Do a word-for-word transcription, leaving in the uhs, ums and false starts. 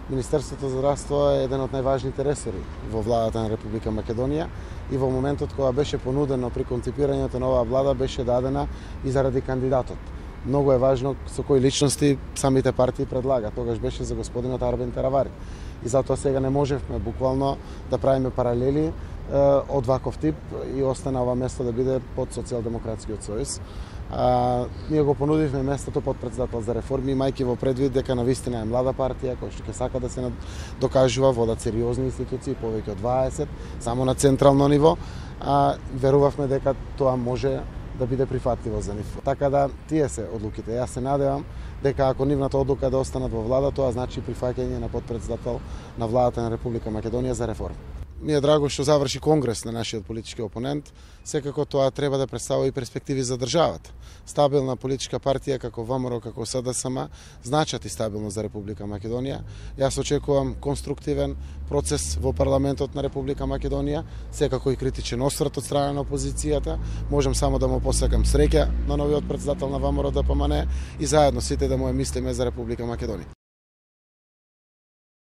Министерството за здравство е еден од најважните ресори во владата на Република Македонија и во моментот кога беше понудено при конципирањето на оваа влада беше дадена и заради кандидатот. Многу е важно со кои личности самите партии предлагаат. Тогаш беше за господинот Арбен Теравари. И затоа сега не можевме буквално да правиме паралели е, од ваков тип и остана ова место да биде под Социјалдемократскиот сојуз. А, ние го понудивме местото под председател за реформи, имајќи во предвид дека навистина е млада партија која што ќе сака да се докажува, водат сериозни институции, повеќе од дваесет, само на централно ниво, а верувавме дека тоа може да биде прифатливо за нив. Така да тие се одлуките. Јас се надевам дека ако нивната одлука е да останат во влада, тоа значи прифаќање на подпредседател на владата на Република Македонија за реформи. Ми е драго што заврши конгрес на нашиот политички опонент, секако тоа треба да представува и перспективи за државата. Стабилна политичка партија како ВМРО, како СДСМ значат и стабилност за Република Македонија. Јас очекувам конструктивен процес во парламентот на Република Македонија, секако и критичен осврт од страна на опозицијата. Можам само да му посакам среќа на новиот председател на ВМРО ДПМН и заедно сите да му е мислиме за Република Македонија.